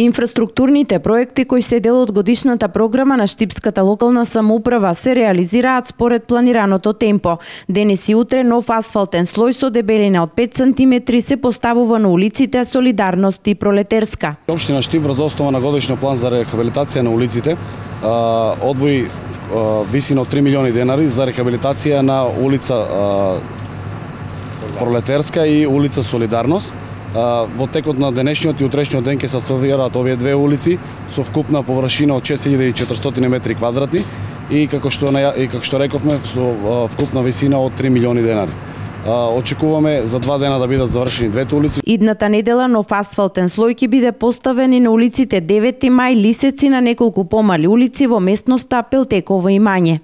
Инфраструктурните проекти кои се дел од годишната програма на Штипската локална самоуправа се реализираат според планираното темпо. Денес и утре нов асфалтен слој со дебелина од 5 см се поставува на улиците Солидарност и Пролетерска. Општина Штип врз основа на годишен план за рехабилитација на улиците одвои висина од 3 милиони денари за рехабилитација на улица Пролетерска и улица Солидарност. Во текот на денешниот и утрешниот ден ќе се асфалтираат овие две улици со вкупна површина од 6400 метри квадратни и како што рековме со вкупна висина од 3 милиони денари. Очекуваме за 2 дена да бидат завршени двете улици. Идната недела нов асфалтен слој ќе биде поставен и на улиците 9 мај, Лисеци, на неколку помали улици во местноста Пелтеково имање.